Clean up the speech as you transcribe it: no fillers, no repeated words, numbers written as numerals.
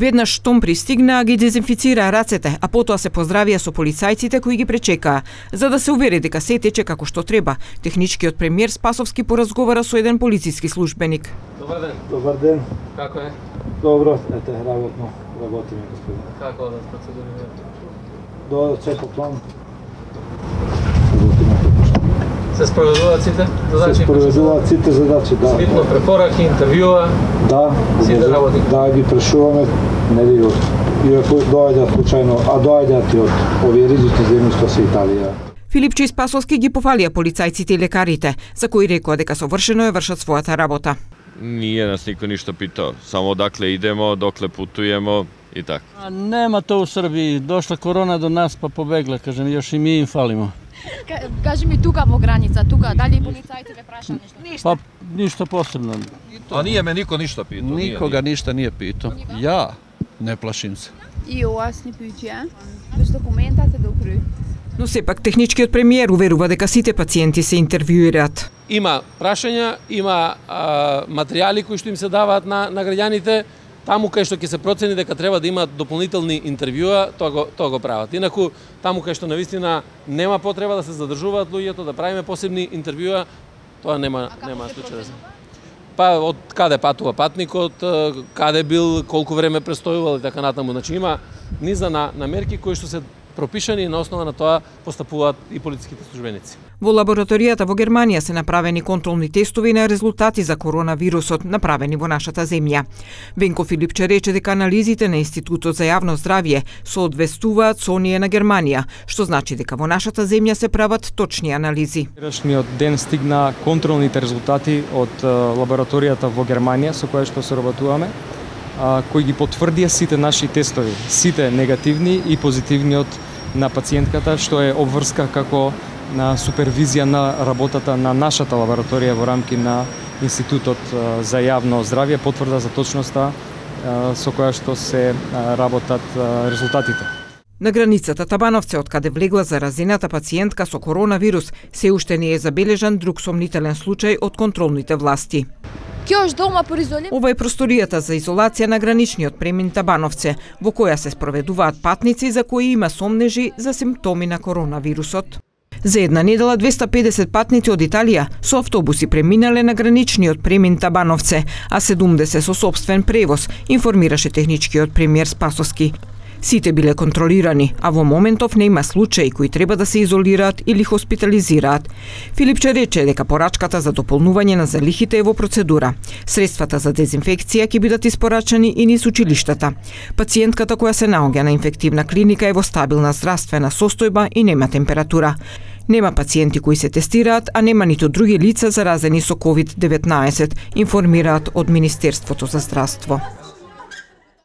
Веднаш штом пристигнаа, ги дезинфицираа рацете, а потоа се поздравија со полицајците кои ги пречекаа, за да се увери дека се тече како што треба. Техничкиот премиер Спасовски поразговара со еден полициски службеник. Добар ден. Добар ден. Како е? Добро, ете, работиме, господин. Како одат процедурите? До секој план. Се спроведуваат сите задачи? Се спроведуваат сите задачи, да. Свитно препораки, интервјуа? Да. Сите работи? Да, ги прешуваме, нели, иако доаѓаат случајно, а доаѓаат и од овие ризични земји што се Италија. Филипче и Спасовски ги пофалија полицајците и лекарите, за кои рекоа дека совршено ја вршат својата работа. Nije nas niko ništa pitao, samo odakle idemo, dokle putujemo i tako. Нема то у Србiji, дошла корона до нас па побегла, кажем, још и ми им фалимо. Кажи ми тука во граница, тука, дали полицајците ве праша нешто? Па ништо посебно. А nije me niko ništa pitao. Nikoga ništa nije pitao. Ja ne plašim se. И вас не пије, без документате добри. Но сепак техничкиот премиер уверува дека сите пациенти се интервјуираат. Има прашања, има материјали кои што им се даваат на граѓаните, таму кај што ќе се процени дека треба да имаат дополнителни интервјуа, тоа го прават. Инаку, таму кај што навистина нема потреба да се задржуваат луѓето, да правиме посебни интервјуа, тоа нема случај да се. Па од каде патува патникот, каде бил, колку време престојувал и така натаму. Значи има низа на мерки кои што се пропишани и на основа на тоа постапуваат и полициските службеници. Во лабораторијата во Германија се направени контролни тестови на резултати за коронавирусот, направени во нашата земја. Венко Филипче рече дека анализите на Институтот за јавно здравје соодвестуваат со оние на Германија, што значи дека во нашата земја се прават точни анализи. Вчерашниот ден стигна контролните резултати од лабораторијата во Германија со која што соработуваме, кои ги потврдија сите наши тестови, сите негативни и позитивниот на пациентката, што е обврска како на супервизија на работата на нашата лабораторија во рамки на Институтот за јавно здравје, потврда за точноста со која што се работат резултатите. На границата Табановце, од каде влегла заразената пациентка со коронавирус, се уште не е забележан друг сомнителен случај од контролните власти. Ова е просторијата за изолација на граничниот премин Табановце, во која се спроведуваат патници за кои има сомнежи за симптоми на коронавирусот. За една недела 250 патници од Италија со автобуси преминале на граничниот премин Табановце, а 70 со сопствен превоз, информираше техничкиот премиер Спасовски. Сите биле контролирани, а во моментов не има случаи кои треба да се изолираат или хоспитализираат. Филипче рече дека порачката за дополнување на залихите е во процедура. Средствата за дезинфекција ќе бидат испорачани и низ училиштата. Пациентката која се наоѓа на инфективна клиника е во стабилна здравствена состојба и нема температура. Нема пациенти кои се тестираат, а нема ниту други лица заразени со COVID-19, информираат од Министерството за здравство.